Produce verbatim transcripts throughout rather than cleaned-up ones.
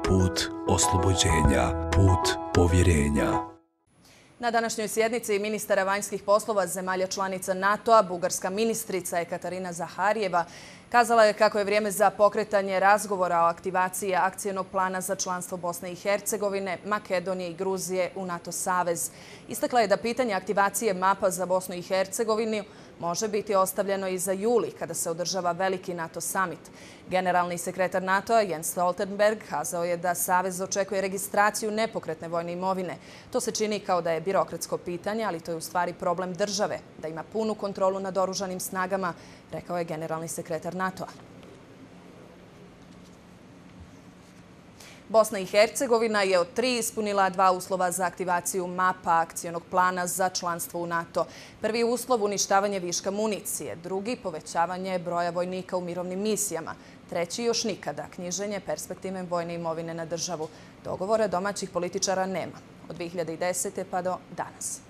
put oslobođenja, put povjerenja. Na današnjoj sjednici ministara vanjskih poslova zemalja članica NATO-a, bugarska ministrica Ekaterina Zaharijeva kazala je kako je vrijeme za pokretanje razgovora o aktivaciji akcijnog plana za članstvo Bosne i Hercegovine, Makedonije i Gruzije u NATO savez. Istakla je da pitanje aktivacije mapa za Bosnu i Hercegovinu može biti ostavljeno i za juli, kada se održava veliki NATO summit. Generalni sekretar NATO-a Jens Stoltenberg kazao je da savez očekuje registraciju nepokretne vojne imovine. To se čini kao da je birokratsko pitanje, ali to je u stvari problem države, da ima punu kontrolu nad oružanim snagama, rekao je generalni sekretar NATO-a. Bosna i Hercegovina je od tri ispunila dva uslova za aktivaciju mapa akcijnog plana za članstvo u NATO. Prvi uslov uništavanje viška municije, drugi povećavanje broja vojnika u mirovnim misijama, treći još nikada knjiženje perspektivne vojne imovine na državu. Dogovora domaćih političara nema od dvije hiljade desete pa do danas.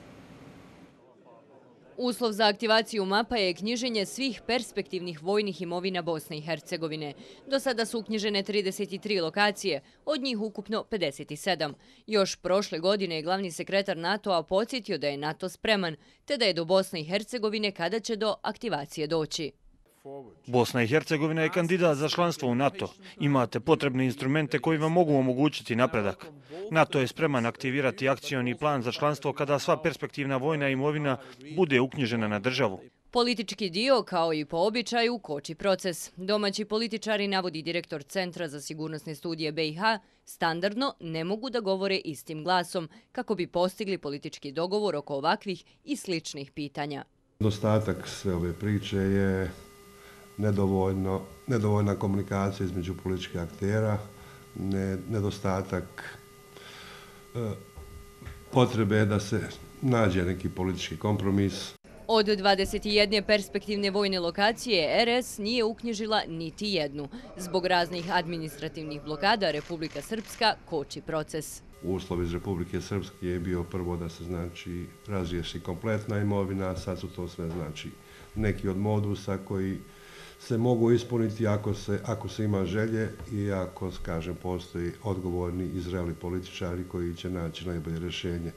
Uslov za aktivaciju mapa je knjiženje svih perspektivnih vojnih imovina Bosne i Hercegovine. Do sada su uknjižene trideset tri lokacije, od njih ukupno pedeset sedam. Još prošle godine je glavni sekretar NATO-a podsjetio da je NATO spreman, te da je do Bosne i Hercegovine kada će do aktivacije doći. Bosna i Hercegovina je kandidat za članstvo u NATO. Imate potrebne instrumente koji vam mogu omogućiti napredak. NATO je spreman aktivirati akcioni plan za članstvo kada sva perspektivna vojna imovina bude uknjižena na državu. Politički dio, kao i po običaju, koči proces. Domaći političari, navodi direktor Centra za sigurnosne studije B i H, standardno ne mogu da govore istim glasom kako bi postigli politički dogovor oko ovakvih i sličnih pitanja. Dostatak sve ove priče je Nedovoljno, nedovoljna komunikacija između političkih aktera, ne, nedostatak e, potrebe da se nađe neki politički kompromis. Od dvadeset jedne perspektivne vojne lokacije R S nije uknjižila niti jednu. Zbog raznih administrativnih blokada Republika Srpska koči proces. Uslov iz Republike Srpske je bio prvo da se znači razriješi kompletna imovina, sad su to sve znači neki od modusa koji se mogu ispuniti ako se, ako se ima želje i ako, kažem, postoji odgovorni i zreli političari koji će naći najbolje rješenje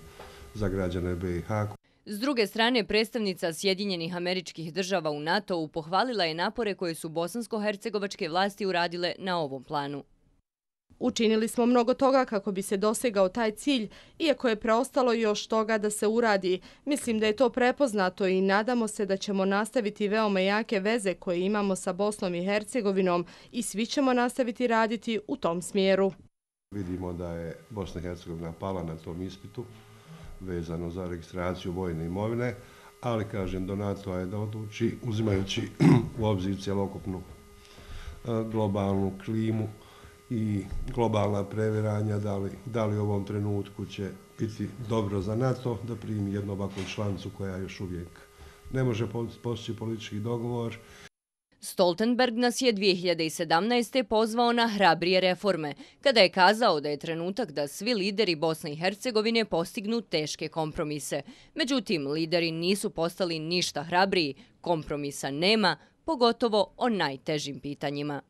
za građane B i H. S druge strane, predstavnica Sjedinjenih Američkih Država u NATO-u pohvalila je napore koje su bosansko-hercegovačke vlasti uradile na ovom planu. Učinili smo mnogo toga kako bi se dosegao taj cilj, iako je preostalo još toga da se uradi. Mislim da je to prepoznato i nadamo se da ćemo nastaviti veoma jake veze koje imamo sa Bosnom i Hercegovinom i svi ćemo nastaviti raditi u tom smjeru. Vidimo da je Bosna i Hercegovina pala na tom ispitu vezano za registraciju vojne imovine, ali kažem do NATO-a je da odluči, uzimajući u obzir cjelokupnu globalnu klimu i globalna previranja, da li, da li u ovom trenutku će biti dobro za NATO da primi jednu ovakvu članicu koja još uvijek ne može postići politički dogovor. Stoltenberg nas je dvije hiljade sedamnaeste. pozvao na hrabrije reforme, kada je kazao da je trenutak da svi lideri Bosne i Hercegovine postignu teške kompromise. Međutim, lideri nisu postali ništa hrabriji, kompromisa nema, pogotovo o najtežim pitanjima.